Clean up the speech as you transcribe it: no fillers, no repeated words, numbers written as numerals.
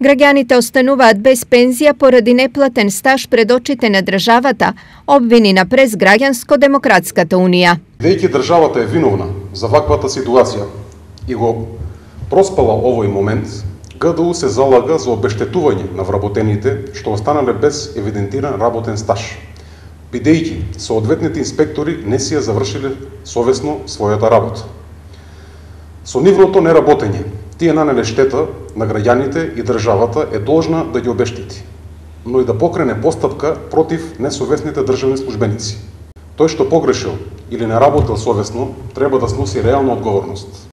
Граѓаните остануваат без пензија поради неплатен стаж пред очите на државата, обвини на Прес Граѓанско-демократската унија. Веќе државата е виновна за ваквата ситуација и го проспала овој момент, ГДУ се залага за обештетување на вработените што останале без евидентиран работен стаж, бидејќи соодветните инспектори не си ја завршиле совесно својата работа. Со нивното неработење, тие нанеле штета на граѓаните и државата е должна да ги обештети, но и да покрене постапка против несовесните државни службеници. Тој што погрешил или не работел совесно, треба да сноси реална одговорност.